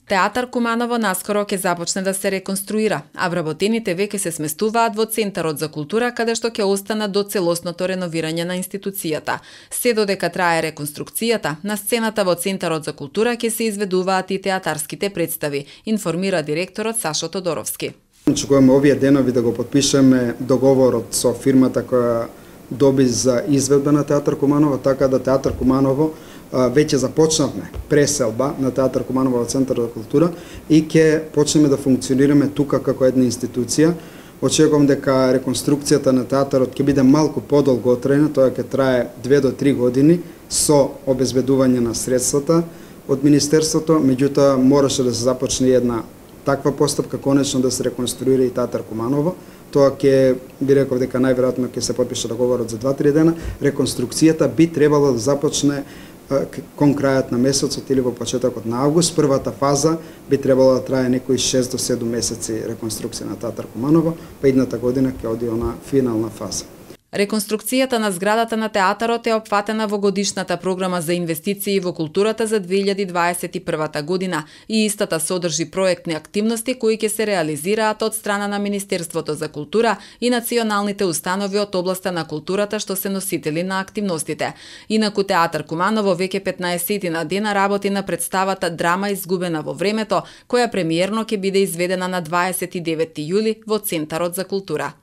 Театар Куманово наскоро ќе започне да се реконструира, а вработените веќе се сместуваат во Центарот за култура, каде што ќе останат до целосното реновирање на институцијата. Се додека трае реконструкцијата, на сцената во Центарот за култура ќе се изведуваат и театарските представи, информира директорот Сашо Тодоровски. Очекуваме овие денови да го потпишеме договорот со фирмата која доби за изведба на Театар Куманово, така да Театар Куманово веќе започнавме преселба на Театар Куманово во Центар за култура и ќе почнеме да функционираме тука како една институција. Очекувам дека реконструкцијата на театарот ќе биде малку подолго отрајна, тоа ќе трае 2 до 3 години со обезбедување на средствата од Министерството, меѓутоа мораше да се започне една таква постапка, конечно да се реконструира и Театар Куманово. Тоа ќе би реков дека најверојатно ќе се потпише договорот за 2-3 дена. Реконструкцијата би требало да започне кон крајот на месецот или во почетокот на август. Првата фаза би требало да трае некои 6 до 7 месеци реконструкција на Театар Куманово, па идната година ќе оди на финална фаза. Реконструкцијата на зградата на театарот е опфатена во годишната програма за инвестиции во културата за 2021 година и истата содржи проектни активности кои ќе се реализираат од страна на Министерството за култура и националните установи од областа на културата што се носители на активностите. Инаку Театар Куманово веќе 15 на дена работи на представата Драма изгубена во времето, која премиерно ќе биде изведена на 29 јули во Центарот за култура.